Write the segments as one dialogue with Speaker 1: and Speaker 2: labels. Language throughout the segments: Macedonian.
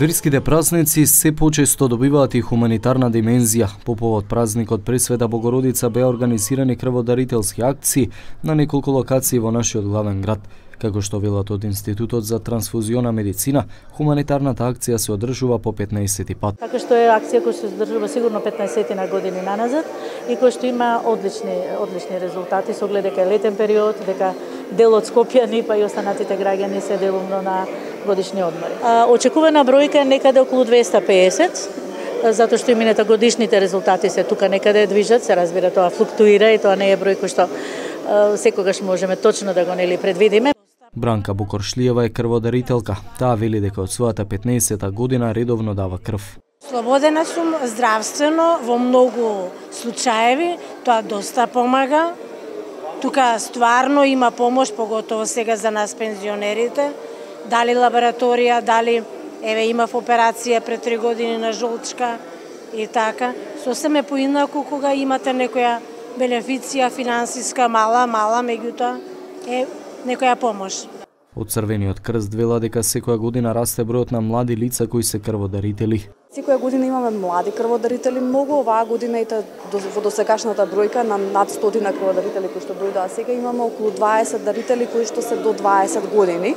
Speaker 1: Верските празници се почесто добиваат и хуманитарна димензија. По повод празникот Пресвета Богородица беа организирани крводарителски акции на неколку локации во нашиот главен град. Како што велат од Институтот за трансфузиона медицина, хуманитарната акција се одржува по 15 пат.
Speaker 2: Така што е акција која се одржува сигурно 15 на години наназад и која што има одлични резултати со оглед дека е летен период, дека дел од скопјани па и останатите граѓани се делумно на годишни одмори. Очекувана бројка е некаде околу 250, затоа што и мината годишните резултати се тука некаде движат, се разбира тоа флуктуира и тоа не е број кој што секогаш можеме точно да го предвидиме.
Speaker 1: Бранка Букоршлиева е крводарителка. Таа вели дека од својата 15-та година редовно дава крв.
Speaker 3: Слободена сум здравствено во многу случаеви, тоа доста помага. Тука стварно има помош, поготово сега за нас пензионерите. Дали лабораторија, дали имав операција пред 3 години на жолчка и така. Сосем е поинаку кога имате некоја бенефиција финансиска мала, меѓутоа е некоја помош.
Speaker 1: Од Црвениот крст вела дека секоја година расте бројот на млади лица кои се крводарители.
Speaker 4: Секоја година имаме млади крводарители многу, оваа година и во досегашната бројка на над 100 крводарители кои што дојдоа сега имаме околу 20 дарители кои што се до 20 години.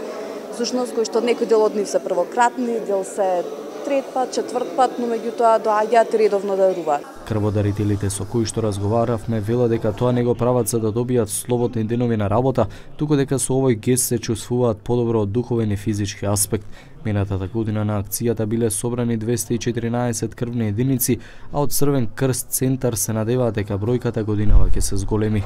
Speaker 4: Всушност кои што некој дел од нив се првократни, дел се трет пат, четврт пат, но меѓутоа доаѓаат редовно да даруваат.
Speaker 1: Крводарителите со кои што разговаравме вела дека тоа не го прават за да добијат слободни денови на работа, туку дека со овој гест се чувствуваат подобро од духовен и физички аспект. Минатата година на акцијата биле собрани 214 крвни единици, а од Црвен крст центар се надеваат дека бројката годинава ќе се зголеми.